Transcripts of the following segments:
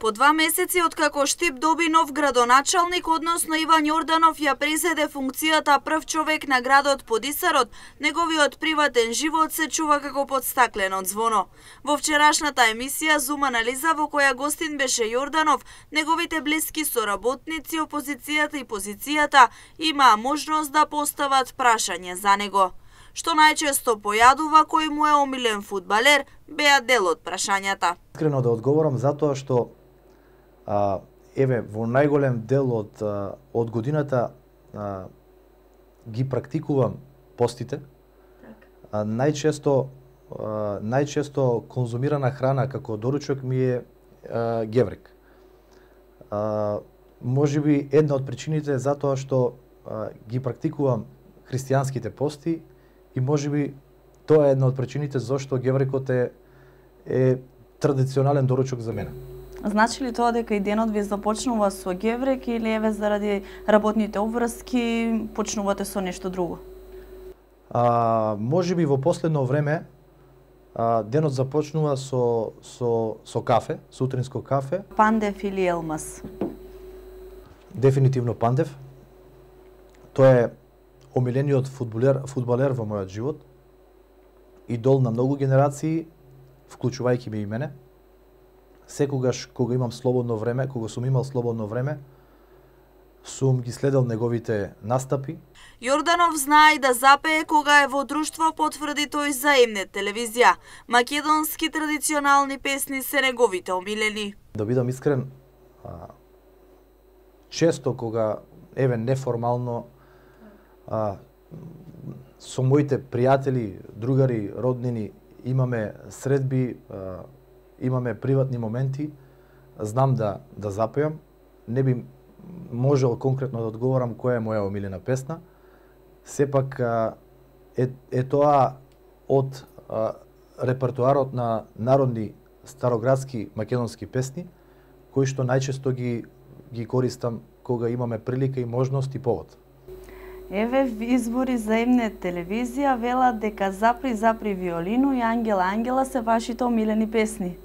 По 2 месеци откако Штип доби нов градоначалник, односно Иван Јорданов ја презеде функцијата прв човек на градот под Исарот, неговиот приватен живот се чува како под стаклено ѕвоно. Во вчерашната емисија Зум анализа, во која гостин беше Јорданов, неговите блиски соработници, опозицијата и позицијата имаа можност да постават прашање за него. Што најчесто појадува, кој му е омилен фудбалер, беа дел од прашањата. Искрено да одговорам затоа што во најголем дел од годината ги практикувам постите. Најчесто конзумирана храна како доручок ми е геврек. Можеби една од причините е затоа што ги практикувам христијанските пости и можеби тоа е една од причините зашто геврекот е традиционален доручок за мене. Значи ли тоа дека и денот ви започнува со геврек или еве заради работните обврски почнувате со нешто друго? Можеби во последно време денот започнува со кафе, сутринско кафе. Пандев или Елмас? Дефинитивно Пандев. Тоа е омилениот фудбалер во мојот живот. Идол на многу генерации, вклучувајќи ме и мене. Секогаш кога имам слободно време, кога сум имал слободно време, сум ги следел неговите настапи. Јорданов знае да запее кога е во друштво, потврди тој за Емнет телевизија. Македонски традиционални песни се неговите омилени. Да бидам искрен, често кога неформално со моите пријатели, другари, роднини имаме средби, имаме приватни моменти, знам да запеам. Не би можел конкретно да одговорам која е моја омилена песна. Сепак е тоа од репертоарот на народни староградски македонски песни, кои што најчесто ги користам кога имаме прилика и можност и повод. Еве избори за Емнет телевизија велат дека Запри виолину и Ангела се вашите омилени песни.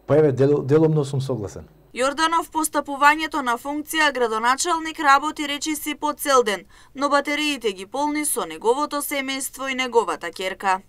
Па еве, деломно сум согласен. Јорданов постапувањето на функција градоначалник работи речиси по цел ден, но батериите ги полни со неговото семејство и неговата ќерка.